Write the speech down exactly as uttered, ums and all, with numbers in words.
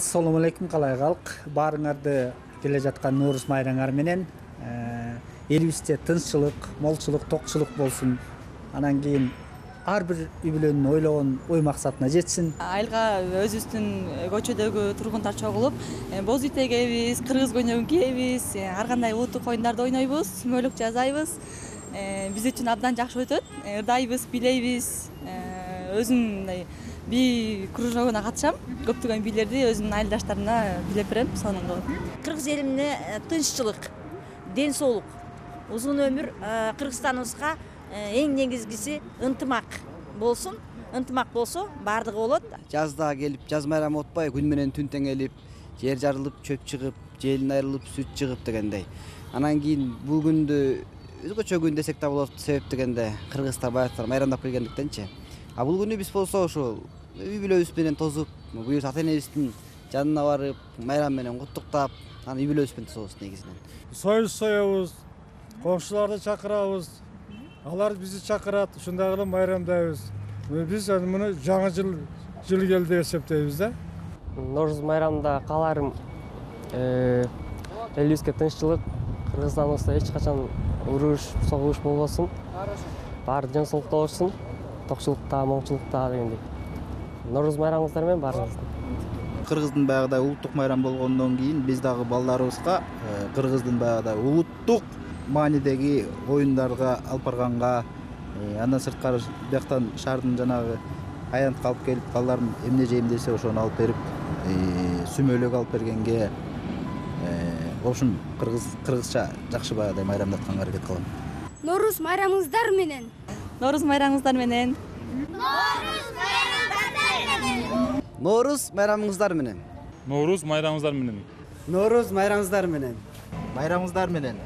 Assalomu alaykum, қалай калк. Баарыңарды келе жаткан Нооруз майраңар менен элибизде тынччылык, молчулук, токчулук болсун. Анан кийин ар бир үй бүлөнүн ойлогон ой максатына жетсин. Айылга өзүбүздүн көчөдөгү тургундар чогулуп, боз үй тегебиз, кыргыз көйнөгүн кийебиз, ар кандай улуттук оюндарды ойнойбуз, сүмөлүк жасайбыз. Биз үчүн абдан жакшы өтөт. Ырдайбыз, бийлейбиз. Өзүм мындай би кружогуна катышам. Көптөгөн бийлерди өзүмдүн айылдаштарымна билеп берем, сонун кылып. Кыргыз элимне тынччылык, ден соолук, узун өмүр Кыргызстаныбызга эң негизгиси ынтымак болсун. Ынтымак болсо баардыгы болот. Жазда келип, жаз майрамы отпай, күн менен түн теңелип, жер жарылып, чөп чыгып, желин айрылып, сүт чыгып дегендей. Анан кийин бул күндү өзгөчө күн десек да болот, себеп дегенде кыргыздар баягы майрамдап келгендиктенчи. А бул күнү биз болсо ошол үй бүлөбүз менен тосуп, буюрса ата энебиздин жанына барып, майрам менен куттуктап, анан үй бүлөбүз менен тособуз негизинен. Союз соебуз, коңшуларды чакырабыз. Алар бизди чакырат, ушундай кылып майрамдайбыз. Биз муну жаңы жыл жыл келди деп эсептейбиз да. Нооруз майрамында кааларым элибизге тынччылык, Кыргызстаныбызда эч качан уруш, согуш болбосун. Баары жансоолукта болушун, токчулукта, моңчулукта дегендей. Нооруз майрамыңыздар менен баарыңыздын. Кыргыздын баягыдай улуттук майрам болгондон кийин биз дагы балдарыбызга кыргыздын баягыдай улуттук маанидеги оюндарга алып барганга, андан сырткары бияктан шаардын жанагы аянтка алып келип, балдарым эмне жейм десе ошону алып берип, сүмөлөк алып бергенге, в общем, кыргыз кыргызча жакшы баягыдай майрамдатканга аракет кылам. Нооруз майрамыңыздар менен. Нооруз майрамыңыздар менен. Нооруз майрамыңыздар менен. Нооруз майрамыңыздар менен. Нооруз майрамыңыздар менен. Майрамыңыздар менен.